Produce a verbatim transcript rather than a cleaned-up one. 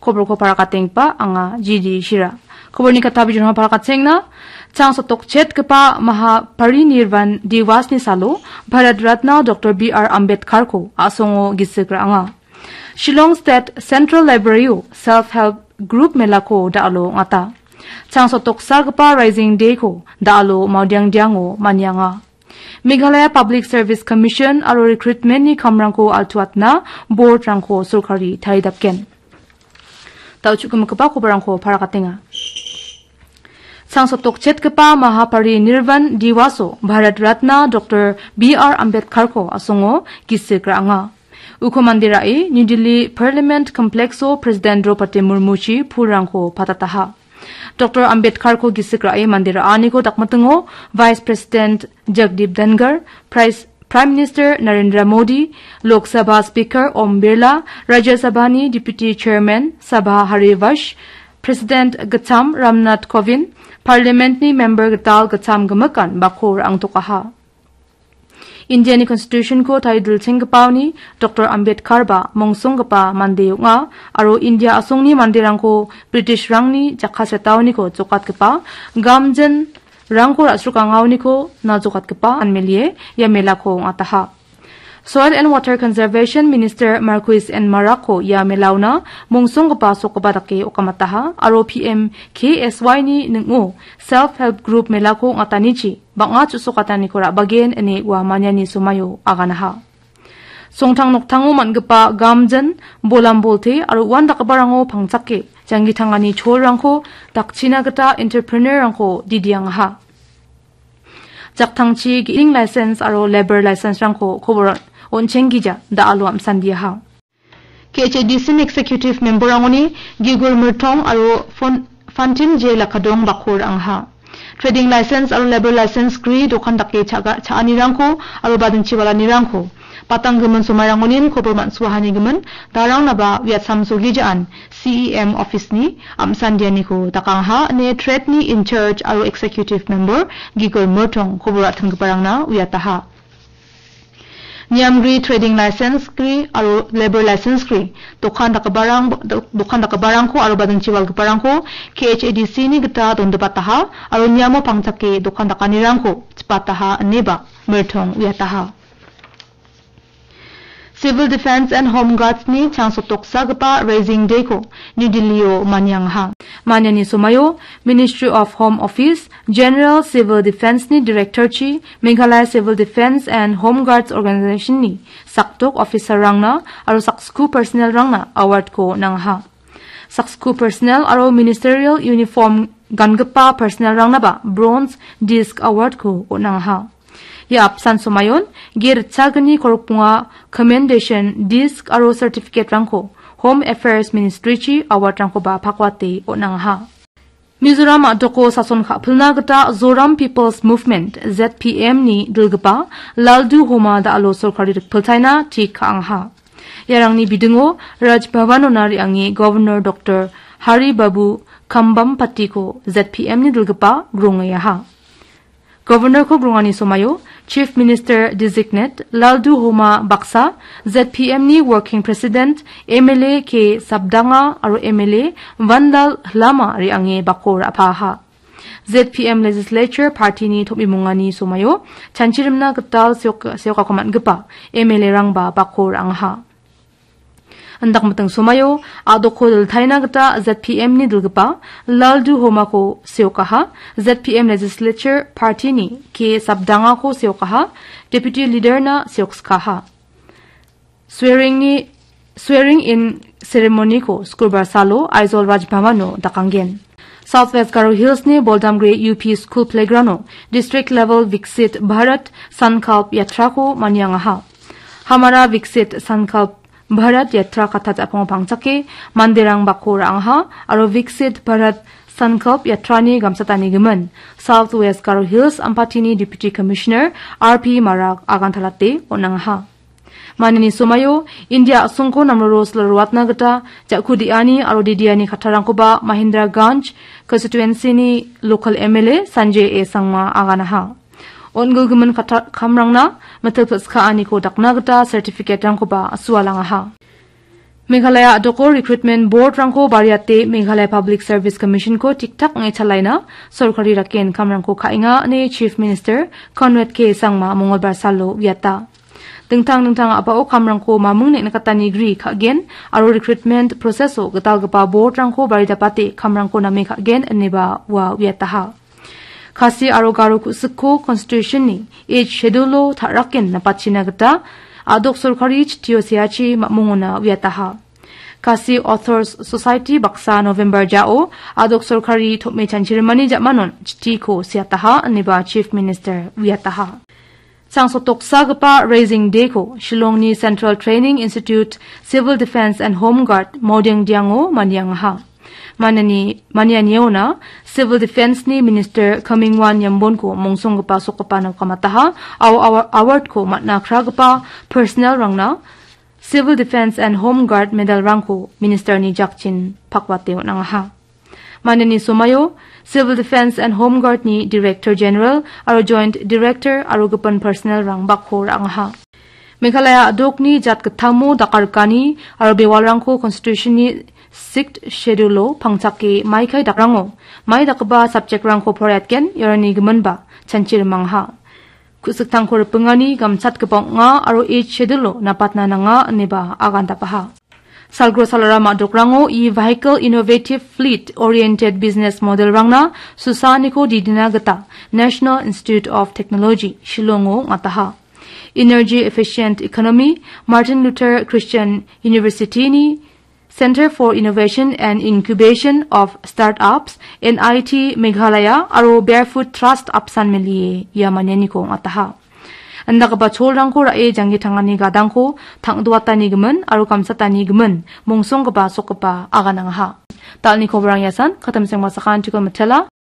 Koborko parakatenggipa anga G D Shira. Koborni kata bijolrangko parakatengna, chang sotokchetgipa Mahaparinirvan Diwasni salo Bharat Ratna Doctor B R Ambedkarko a·songo gisik ra·anga. Shillong State Central Libraryo Self Help Group melako da·alo ong·ata. Chang sotoksagipa Rising Dayko da·alo Mawdiangdiango manianga. Meghalaya Public Service Commission aro recruitmentni kamrangko altuatna boardrangko sorkari taridapgen. Da·o chu·gimikgipa koborrangko parakatenga. Chang sotokchetgipa Mahaparinirvan Diwaso Bharat Ratna Doctor B R Ambedkarko a·songo gisik ra·anga. Uko mande ra·e New Delhi Parliament Complexo President Draupadi Murmuchi pulrangko patataha. Doctor Ambedkarko gisik ra·e mande ra·aniko dakmitingo Vice President Jagdeep Dhankhar, Prais-, Prime Minister Narendra Modi, Lok Sabha Speaker Om Birla, Rajya Sabhani Deputy Chairman Sabha Harivansh, President Gittam Ramnath Kovind, Parliamentni member gital gittam gimikan bako ra·angtokaha. Indiani Constitutionko tarie dilchenggipaoni Doctor Ambedkar ba mongsonggipa mande ong·a aro India a·songni manderangko Britishrangni jakasetaoniko jokatgipa gamjinrangko ra·srokangaoniko na jokatgipa anmelie ia melako ong·ataha. Soil and Water Conservation Minister Marcuise N Marakko ia melaona mongsonggipa sokgipa dake okamataha aro P M K S Y-ni ning·o Self Help Group melako ong·atanichi bang·a chu·sokataniko ra·bagen ine ua maniani somaio aganaha. Songtang noktango man·gipa gamjin, bolam bolte aro uandakgiparango pangchake janggi tangani cholrangko dakchina gita entrepreneur-rangko didiangaha. Jaktangchi ge·ing license aro labour license-rangko kobor on·chenggija da·alo am·sandiaha. K H A D C-ni executive member-rangoni Gigul Mirtong aro Fon-, Fantin J Lakadong bakko ra·angaha. Trading license aro labour license gri dokan dake cha·ga-, cha·anirangko aro badingchi walanirangko patang gimin somairangonin kobor man·suahanigimin darangnaba uiatsam sogijaan C E M office-ni am·sandianiko dakangaha ine trade-ni in charge aro executive member Gigul Mirtong kobor ra·timgiparangna uiataha. Niamgri trading license gri aro labour license gri dokan dakgiparang, do-, dokan dakgiparangko aro badingchi walgiparangko K H A D C-ni gita dondipataha aro niamo pangchake dokan dakanirangko chipataha ineba Mirtong uiataha. Civil Defence and Home Guards-ni chang sotoksagipa Raising Day-ko New Delhi-o maniangaha. Maniani somaio Ministry of Home Office, General Civil Defence-ni Director-chi, Meghalaya Civil Defence and Home Guards Organization-ni sakdok officer-rangna aro sakskiu personnel-rangna award-ko nangaha. Sakskiu personnel aro ministerial uniform gangipa personnel-rangnaba Bronze Disc Award-ko on·angaha. Ia apsan somaion G ritchagni korokbonga Commendation Disc aro Certificate-rangko Home Affairs Ministry-chi award-rangkoba pakwate on·angaha. Mizoram a·doko sason ka·pilna gita Zoram People's Movement, Z P M-ni dilgipa Lalduhoma da·alo sorkari rikpiltaina tik ka·angaha. Iarangni bidingo Raj Bhavan-ona re·ange Governor Doctor Hari Babu Kambhampati-ko Z P M-ni dilgipa grongaha. Governor-ko grongani somaio Chief Minister Designate Lalduhoma baksa, Z P M-ni Working President M L A K Sabdanga aro M L A Vanlal Lama re·ange bako ra·paha. Z P M Legislature Party-ni tom·imungani somaio chanchirimna gital seok-, seokako man·gipa M L A-rangba bako ra·angaha. Indakmiting somaio a·doko diltaina gita Z P M-ni dilgipa Lalduhomako seokaha, Z P M Legislature Party-ni K Sabdangako seokaha, Deputy Leader-na seokskaha. Swearing-ni, swearing-in ceremony-ko Sukrobar salo Aizawl Raj Bhavan-o dakanggen. South West Garo Hills-ni Boldamgre U P School Playground-o District Level Viksit Bharat Sankalp Yatra-ko maniangaha. Hamara Viksit Sankalp Bharat Yatra katta ja·pango pangchake manderang bako ra·angaha aro Viksit Bharat Sankalp Yatra-ni gamsatanigimin South West Garo Hills Ampatini Deputy Commissioner R P Marak agantalate on·angaha. Manini somaio India a·songko namroro silroatna gita ja·ku de·ani aro didiani kattarangkoba Mahendraganj constituency-ni local M L A Sanjay A Sangma aganaha. On·gilgimin katta-, kamrangna mitil pis ka·aniko dakna gita certificate-rangkoba sualangaha. Meghalaya a·doko Recruitment Board-rangko bariate Meghalaya Public Service Commission-ko tik-tak ong·e chalaina sorkari raken kamrangko ka·enga ine Chief Minister Conrad K Sangma Mongolbar salo uiata. Dingtang dingtang a·bao kamrangko maming neng·katani gri ka·gen aro recruitment process-o gitalgipa board-rangko baridapate kamrangko name ka·gen ineba ua uiataha. Khasi aro Garo ku·sikko Constitution-ni Eighth Schedule-o ta·raken napatchina gita a·dok sorkari chitio seachi mamungona uiataha. Khasi Authors Society baksa November jao a·dok sorkari tom·e chanchirimani ja·manon chitiko seataha ineba Chief Minister uiataha. Sangsotoksagipa Raising Day-ko Shillongni Central Training Institute Civil Defence and Home Guard Maodengdiango maniangaha. Maniani, manianiona Civil Defence-ni Minister Kamingwan Yambonko mongsonggipa sokgipana kamataha, au-, au-, award-ko man·a kragipa personnel-rangna Civil Defence and Home Guard medal-rangko Minister-ni jakchin pakwate on·angaha. Maniani somaio Civil Defence and Home Guard-ni Director General aro Joint Director aro gipin personnel-rang bakko ra·angaha. Meghalaya a·dokni jatgittamo dakarikani aro bewalrangko Constitution-ni Sixth Schedule-o pangchake maikai dakrango mai dakgipa subject-rangko poraiatgen iarangni giminba chanchirimangaha. Ku·siktangko ripingani gamchatgipa ong·a aro Eighth Schedule-o napatna nanga ineba agandapaha. Salgro salara ma·dokrango e-vehicle innovative fleet oriented business model-rangna susaaniko didina gita National Institute of Technology Shillong-o ong·ataha. Energy Efficient Economy, Martin Luther Christian University-ni Center for Innovation and Incubation of Startups, N I T Meghalaya aro Barefoot Trust apsan melie ia manianiko ong·ataha. Indakgipa cholrangko ra·e janggi tangani gadangko tang·duatani gimin aro gamsatani gimin mongsonggipa sokgipa aganangaha. Dal·ni koborang iasan, katamseng masakan chikon mitela.